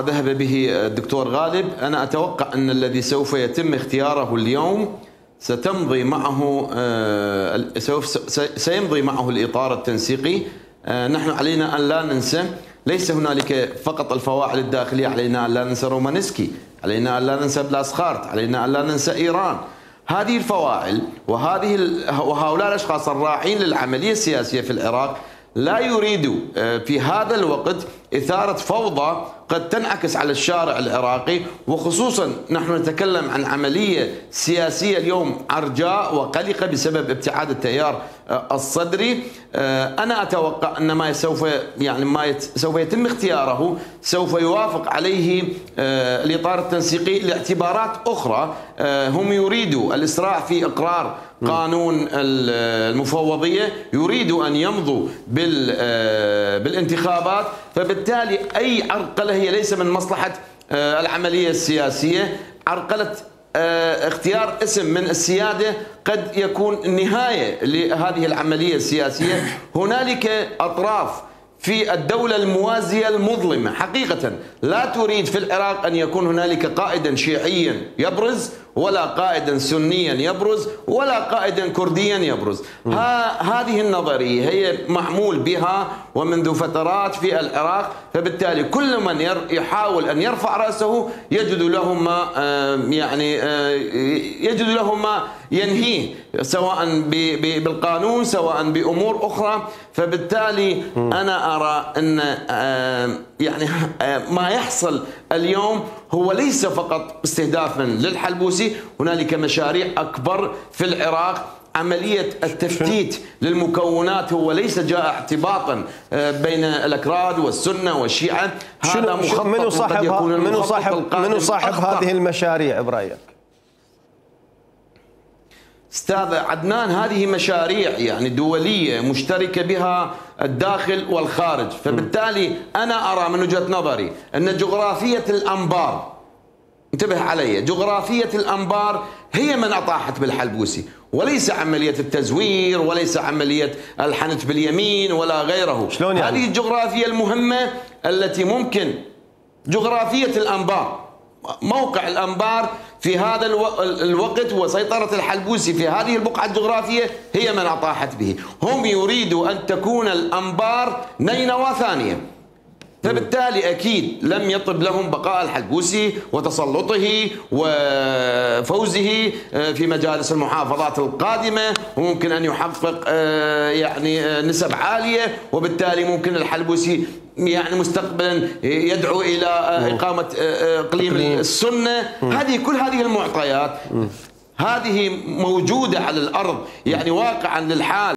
ذهب به الدكتور غالب. أنا أتوقع أن الذي سوف يتم اختياره اليوم سيمضي معه الإطار التنسيقي. نحن علينا أن لا ننسى، ليس هنالك فقط الفواعل الداخلية، علينا أن لا ننسى رومانسكي، علينا أن لا ننسى بلاسخارت، علينا أن لا ننسى إيران. هذه الفواعل وهؤلاء الأشخاص الراعين للعملية السياسية في العراق لا يريدوا في هذا الوقت إثارة فوضى قد تنعكس على الشارع العراقي، وخصوصا نحن نتكلم عن عملية سياسية اليوم عرجاء وقلقة بسبب ابتعاد التيار الصدري. أنا أتوقع أن ما سوف يتم اختياره سوف يوافق عليه الإطار التنسيقي لاعتبارات أخرى. هم يريدوا الإسراع في إقرار قانون المفوضية، يريدوا أن يمضوا بالانتخابات، فبالتالي أي عرقلة هي ليس من مصلحة العملية السياسية. عرقلة اختيار اسم من السيادة قد يكون نهاية لهذه العملية السياسية. هنالك أطراف في الدولة الموازية المظلمة حقيقة لا تريد في العراق أن يكون هنالك قائدا شيعيا يبرز، ولا قائدا سنيا يبرز، ولا قائدا كرديا يبرز. هذه النظرية هي معمول بها ومنذ فترات في العراق، فبالتالي كل من يحاول أن يرفع رأسه يجد له ما ينهيه، سواء بالقانون سواء بأمور أخرى. فبالتالي أنا أرى أن ما يحصل اليوم هو ليس فقط استهدافا للحلبوسي، هنالك مشاريع أكبر في العراق. عملية التفتيت للمكونات هو ليس جاء اعتباطا بين الأكراد والسنة والشيعة، هذا مخطط. منو صاحب هذه المشاريع برأيك؟ استاذ عدنان، هذه مشاريع دولية مشتركة بها الداخل والخارج، فبالتالي أنا أرى من وجهة نظري أن جغرافية الأنبار، انتبه علي، جغرافية الأنبار هي من أطاحت بالحلبوسي، وليس عملية التزوير، وليس عملية الحنت باليمين ولا غيره. شلون يعني؟ هذه الجغرافية المهمة التي ممكن، جغرافية الأنبار، موقع الأنبار في هذا الوقت وسيطرة الحلبوسي في هذه البقعة الجغرافية هي من أطاحت به. هم يريدوا أن تكون الأنبار نينوى ثانية، فبالتالي أكيد لم يطب لهم بقاء الحلبوسي وتسلطه وفوزه في مجالس المحافظات القادمة، وممكن أن يحقق نسب عالية، وبالتالي ممكن الحلبوسي مستقبلا يدعو إلى إقامة إقليم السنة. كل هذه المعطيات هذه موجودة على الأرض، واقعا للحال.